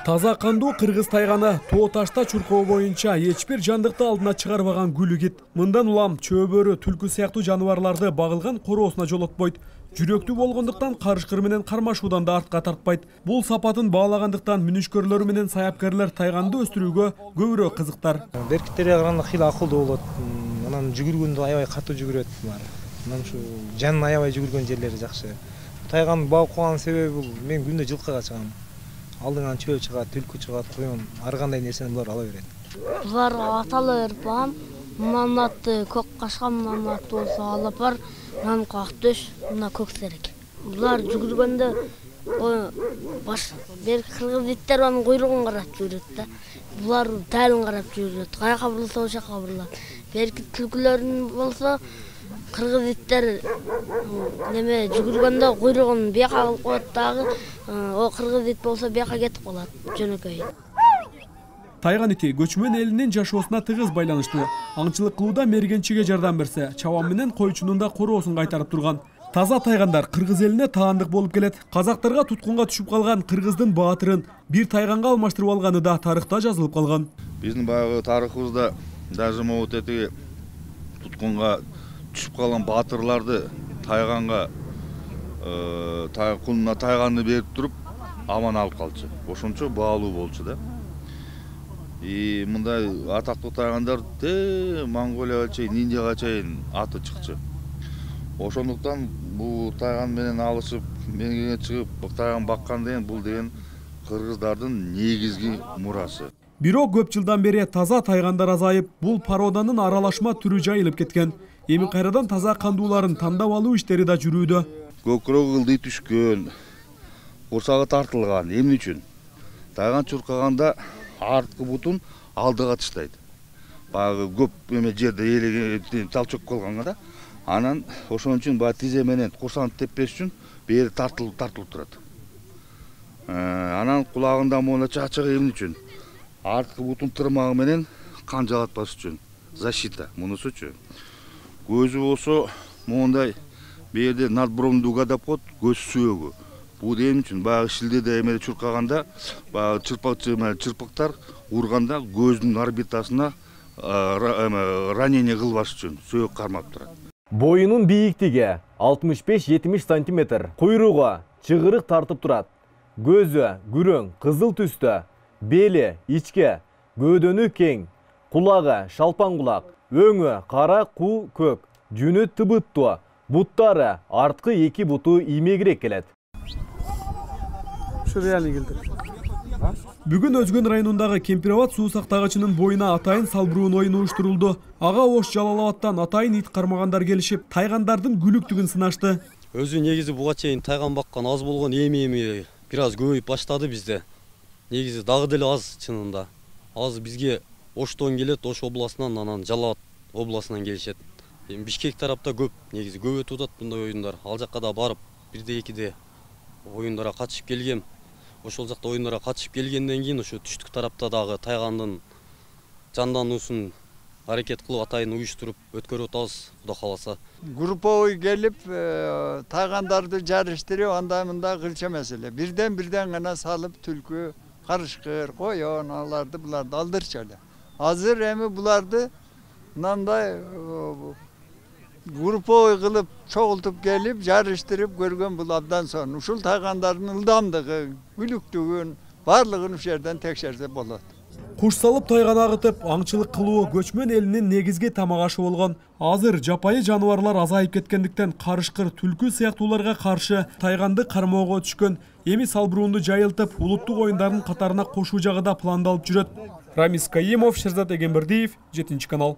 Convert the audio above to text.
Таза кандуу кыргыз тайганы тоо ташта чуркоо боюнча эч бир жандыкты алдына чыгарбаган күлүгит. Мындан улам чөбөрү, түлкү сыяктуу жаныбарларды багылган короосуна жолотпойт. Жүрөктүү болгондуктан карышкыр менен кармашуудан да артка тартпайт. Бул сапатын баалагандыктан мүнүшкөрлөр менен саяпкерлер тайганды өстүрүүгө көбүрөөк кызыктар. Беркиттерге караганда кыйла акылдуу болот. Анан жүгүргөндө аябай катуу жүгүрөт булар. Анан ушу жанын аябай жүгүргөн жерлери жакшы. Тайганы багып калган себеби бул мен күндө жылкыга чыгам. Алдыңан чөө чыгат, түлкү чыгат, коён, ар кандай нерсени булар ала берет. Буларга атала берип багам. Мындан атты көк кашка, мындан атты болсо алап бар, мындан ак-төш, мына көк серек. Булар жүгүргөндө бир кыргыз иттер анын куйругун карап жүрөт да. Булар тайлын карап жүрөт. Каяка бурулса ошака бурулат. Берки түлкүлөрүн болсо кыргыз иттер неме жүгүргөндө куйругун бияка кылып коет дагы, о кыргыз ит болсо бияка кетип калат жөнөкөй. Тайган ити көчмөн элинин жашоосуна тыгыз байланыштуу. Аңчылык кылууда мергенчиге жардам берсе, чабан менен койчунун да короосун кайтарып турган. Таза тайгандар кыргыз элине таандык болуп келет. Казактарга туткунга түшүп калган кыргыздын баатырын бир тайганга алмаштырып алганы да тарыхта жазылып калган. Биздин баягы тарыхыбызда даже могут этиги туткунга түшүп калган баатырларды тайганга кулуна тайганды берип туруп аман алып калчу. Ошончо баалуу болчу да. И мындай атактуу тайгандар Монголияга чейин, Индияга чейин аты чыкчу. Ошондуктан бул тайган менен алышып, меңге чыгып, тайган баккан деген бул деген кыргыздардын негизги мурасы. Бирок көп жылдан бери таза тайгандар азайып, бул породанын аралашма түрү жайылып кеткен. Эми кайрадан таза кандууларын тандап алуу иштери да жүрүүдө. Көкүрөк ылдый түшкөн, курсагы тартылган, эмне үчүн? Тайган чуркаганда арткы бутун алдыга таштайт. Баягы көп эме жерде элеген талчок калганга да. Анан ошон үчүн баягы тизе менен курсагын теппеш үчүн бери тартылып турат. Анан кулагында моуна чачыгы эмне үчүн? Арткы бутун тырмагы менен кан жалатпаш үчүн. Защита мунусучу. Көзү болсо моундай берде надбровный дуга деп коет, көз сөөгү. Бул эмне үчүн? Баягы шилдеде эмеде чуркаганда, баягы чырпыктар урганда көздүн орбитасына ранение кылбаш үчүн сөөк кармап турат. Боюнун бийиктиги 65-70 см, куйругу чыгырык тартып турат. Көзү күрөң, кызыл түстө, бели ичке, бөөдөнү кең, кулагы шалпан кулак, өңү кара ку көк, жүнү тыбыттуу, буттары арткы эки буту иймегирээк келет. Бүгүн Өзгөн районундагы Кемпирабад суу сактагычынын боюна атайын салбыруун оюн уюштурулду. Ага Ош Жалалабадтан атайын ит кармагандар келишип, тайгандардын күлүктүгүн сынашты. Өзү негизи буга чейин тайган баккан аз болгон, эми бир аз көбөйүп баштады бизде. Негизи дагы деле аз чынында. Az бизге Оштон келет, Ош областынан, анан Жалалабад областынан келишет. Бишкек тарапта көп, негизи көп өтүп атат мындай оюндар. Ал жакка да барып, бирде экиде оюндарга катышып келгем. Ошол жакта оюндарга катышып келгенден кийин ошо түштүк тарапта дагы тайгандын жандануусун аракет кылып атайын уюштуруп өткөрүп атабыз, Кудай кааласа. Групповой келип, тайгандарды жарыштырып, анда мында кылча маселе. Бирден гана салып түлкү, карышкыр, коён, аларды буларды алдырчу эле. Азыр эми буларды мындай групповой кылып чогултуп келип, жарыштырып көргөн бул абдан сонун. Ушул тайгандардын ылдамдыгы, күлүктүгүн баардыгын ушул жерден текшерсе болот. Куш салып тайган агытып, аңчылык кылуу көчмөн элинин негизги тамак ашы болгон. Азыр жапайы жаныбарлар азайып кеткендиктен карышкыр, түлкү сыяктууларга каршы тайганды кармоого түшкөн. Эми салбыруунду жайылтып, улуттук оюндардын катарына кошуу жагы да пландалып жүрөт. Рамис Каимов, Шерзат Эгембердиев, 7 канал.